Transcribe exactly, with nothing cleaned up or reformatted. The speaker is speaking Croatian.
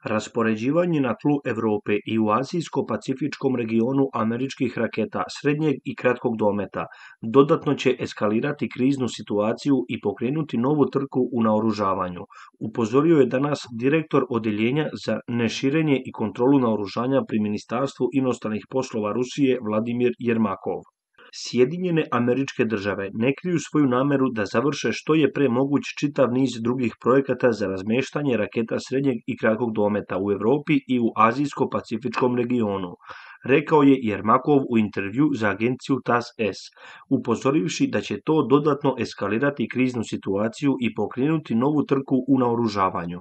Raspoređivanje na tlu Europe i u azijsko-pacifičkom regionu američkih raketa srednjeg i kratkog dometa dodatno će eskalirati kriznu situaciju i pokrenuti novu trku u naoružavanju, upozorio je danas direktor Odjeljenja za neširenje i kontrolu naoružanja pri Ministarstvu inostranih poslova Rusije Vladimir Jermakov. Sjedinjene Američke Države ne kriju svoju nameru da završe što je pre moguć čitav niz drugih projekata za razmeštanje raketa srednjeg i kratkog dometa u Europi i u azijsko-pacifičkom regionu, rekao je Jermakov u intervju za agenciju T A S S, upozorivši da će to dodatno eskalirati kriznu situaciju i pokrenuti novu trku u naoružavanju.